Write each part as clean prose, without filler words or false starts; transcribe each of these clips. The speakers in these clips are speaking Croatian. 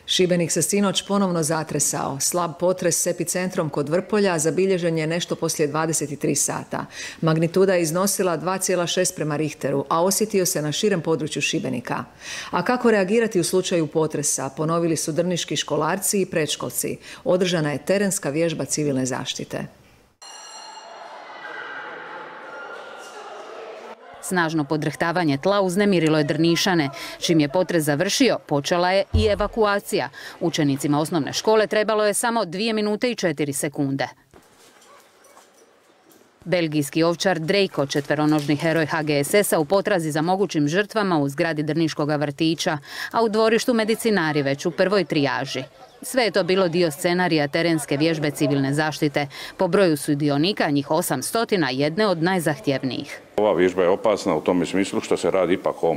Šibenik se sinoć ponovno zatresao. Slab potres s epicentrom kod Vrpolja zabilježen je nešto poslije 23 sata. Magnituda je iznosila 2,6 prema Richteru, a osjetio se na širem području Šibenika. A kako reagirati u slučaju potresa, ponovili su drniški školarci i predškolci. Održana je terenska vježba civilne zaštite. Snažno podrhtavanje tla uznemirilo je Drnišane. Čim je potres završio, počela je i evakuacija. Učenicima osnovne škole trebalo je samo 2 minute i 4 sekunde. Belgijski ovčar Drejko, četveronožni heroj HGSS-a u potrazi za mogućim žrtvama u zgradi Drniškog vrtića, a u dvorištu medicinari već u prvoj trijaži. Sve je to bilo dio scenarija terenske vježbe civilne zaštite. Po broju sudionika, njih 800, jedne od najzahtjevnijih. Ova vježba je opasna u tome smislu što se radi ipak o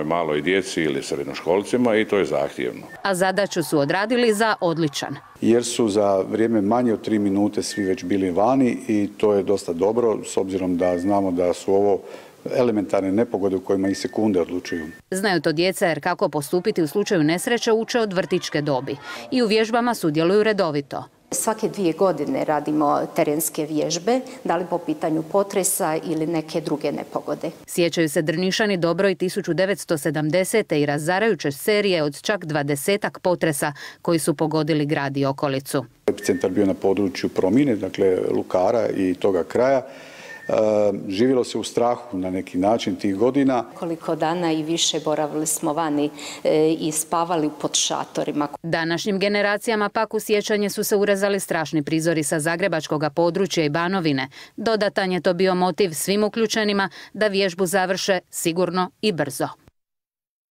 maloj djeci ili srednjoškolcima i to je zahtjevno. A zadaću su odradili za odličan. Jer su za vrijeme manje od 3 minute svi već bili vani i to je dosta dobro s obzirom da znamo da su ovo elementarne nepogode u kojima i sekunde odlučuju. Znaju to djeca jer kako postupiti u slučaju nesreće uče od vrtićke dobi i u vježbama sudjeluju redovito. Svake 2 godine radimo terenske vježbe, da li po pitanju potresa ili neke druge nepogode. Sjećaju se Drnišani dobro i 1970. i razarajuće serije od čak 20-ak potresa koji su pogodili grad i okolicu. Epicentar bio na području Promine, dakle Lukara i toga kraja. Živjelo se u strahu na neki način tih godina. Koliko dana i više boravili smo vani i spavali pod šatorima. Današnjim generacijama pak u sjećanje su se urezali strašni prizori sa zagrebačkog područja i Banovine. Dodatan je to bio motiv svim uključenima da vježbu završe sigurno i brzo.